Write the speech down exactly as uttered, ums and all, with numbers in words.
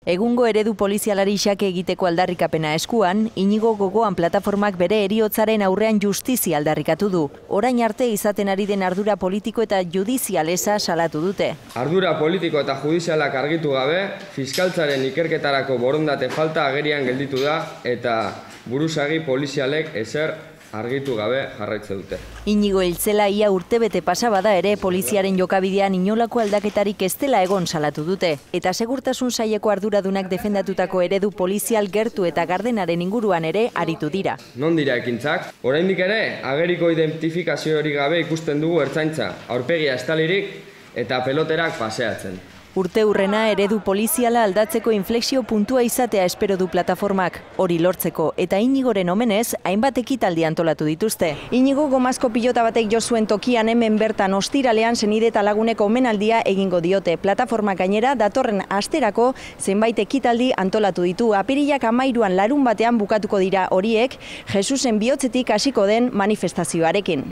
Egungo eredu polizialari xake egiteko aldarrikapena eskuan, Inigo Gogoan plataformak bere heriotzaren aurrean justizia aldarrikatu du. Orain arte izaten ari den ardura politiko eta judizial eza salatu dute. Ardura politiko eta judizialak argitu gabe, fiskaltzaren ikerketarako borondate falta agerian gelditu da eta buruzagi polizialek ezer argitu gabe jarraitze dute. Inigo hiltzela ia urtebete pasa bada ere poliziaren jokabidean inolako aldaketarik ez dela egon salatu dute. Eta segurtasun saileko arduradunak defendatutako eredu polizial gertu eta gardenaren inguruan ere aritu dira. Non dira ekintzak? Oraindik ere, ageriko identifikaziorik gabe ikusten dugu ertzaintza, aurpegia estalirik eta peloterak paseatzen. Urte hurrena eredu poliziala aldatzeko inflexio puntua izatea espero du plataformak, hori lortzeko, eta Inigoren omenez, hainbat ekitaldi antolatu dituzte. Inigo gomazko pilota batek jo zuen tokian hemen bertan ostiralean senide eta laguneko omenaldia egingo diote. Plataformak gainera datorren asterako zenbait ekitaldi antolatu ditu. Apirilak hamairuan larun batean bukatuko dira horiek, Jesusen bihotzetik hasiko den manifestazioarekin.